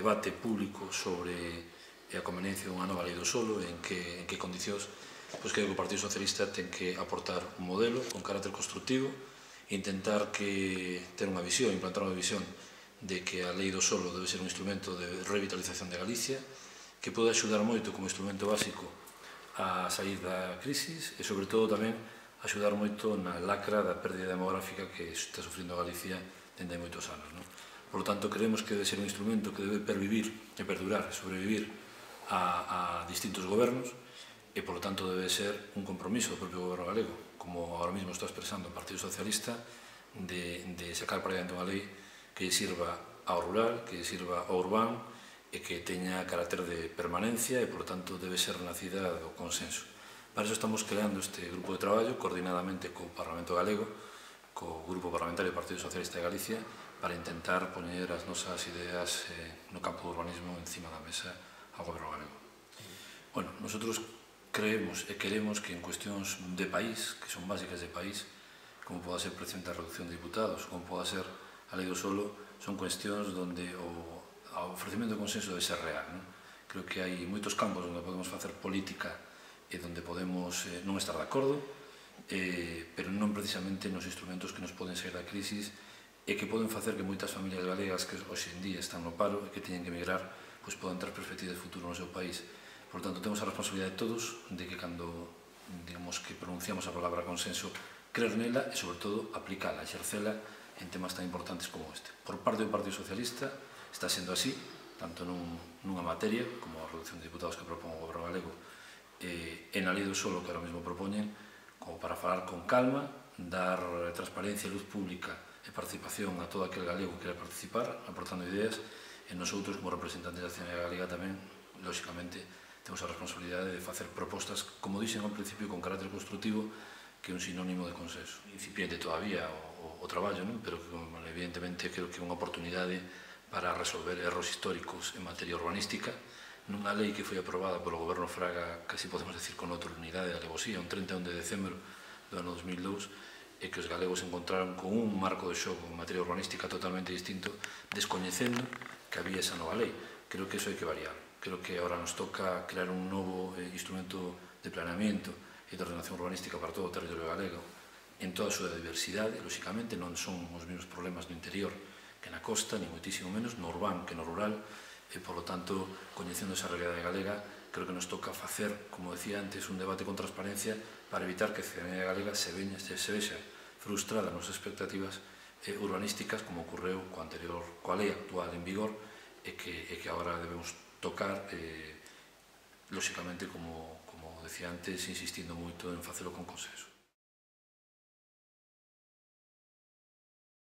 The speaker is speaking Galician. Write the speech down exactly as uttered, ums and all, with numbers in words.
debate público sobre a conveniencia dunha nova lei do solo, en que, en que condicións pois, que o Partido Socialista ten que aportar un modelo con carácter constructivo, intentar que ter unha visión, implantar unha visión de que a lei do solo debe ser un instrumento de revitalización de Galicia, que pode axudar moito como instrumento básico a sair da crisis e, sobre todo, tamén axudar moito na lacra da pérdida demográfica que está sufrindo Galicia dende hai moitos anos. Non? Por lo tanto, creemos que debe ser un instrumento que debe pervivir e perdurar, sobrevivir a, a distintos gobernos e, por lo tanto, debe ser un compromiso do propio goberno galego, como ahora mismo está expresando o Partido Socialista, de, de sacar para diante unha lei que sirva ao rural, que sirva ao urbano e que teña carácter de permanencia e, por lo tanto, debe ser nacida do consenso. Para iso estamos creando este grupo de traballo coordinadamente co Parlamento Galego, co Grupo Parlamentario do Partido Socialista de Galicia, para intentar poñer as nosas ideas no campo do urbanismo encima da mesa ao goberno galego. Bueno, nosotros creemos e queremos que en cuestións de país, que son básicas de país, como poda ser precisamente a reducción de diputados, como poda ser a lei do solo, son cuestións onde o o ofrecimento de consenso debe ser real. Non? Creo que hai moitos campos onde podemos facer política e onde podemos eh, non estar de acordo, eh, pero non precisamente nos instrumentos que nos poden sair da crisis e que poden facer que moitas familias galegas que hoxe en día están no paro e que teñen que emigrar pois podan ter perspectivas de futuro no seu país. Por tanto, temos a responsabilidade de todos de que cando digamos que pronunciamos a palabra consenso, creer nela e, sobre todo, aplicala, exercela en temas tan importantes como este. Por parte do Partido Socialista, está sendo así, tanto nun, nunha materia como a reducción de diputados que propón o goberno galego e eh, na lei do solo que ahora mesmo propoñen, como para falar con calma, dar transparencia e luz pública e participación a todo aquel galego que quere participar, aportando ideas, e nosotros como representantes da ciudadanía galega tamén, lóxicamente, temos a responsabilidade de facer propostas, como dixen ao principio, con carácter constructivo, que é un sinónimo de consenso. Incipiente todavía o, o, o traballo, non? Pero que, evidentemente, creo que é unha oportunidade para resolver erros históricos en materia urbanística, nunha lei que foi aprobada polo goberno Fraga, casi podemos decir con outra unidade de alevosía, un trinta e un de decembro do ano dos mil dous, e que os galegos encontraron con un marco de xogo en materia urbanística totalmente distinto, descoñecendo que había esa nova lei. Creo que iso hai que variar. Creo que agora nos toca crear un novo eh, instrumento de planeamiento e de ordenación urbanística para todo o territorio galego, en toda a súa diversidade, lóxicamente, non son os mesmos problemas no interior que na costa, ni moitísimo menos, no urbano que no rural, e, por lo tanto, coñecendo esa realidade galega, creo que nos toca facer, como decía antes, un debate con transparencia para evitar que a ciudadanía galega se, veña, se vexa frustrada nas expectativas eh, urbanísticas, como ocorreu coa anterior, coa lei actual en vigor, e que, e que agora debemos tocar, eh, lóxicamente, como, como decía antes, insistindo moito en facelo con consenso.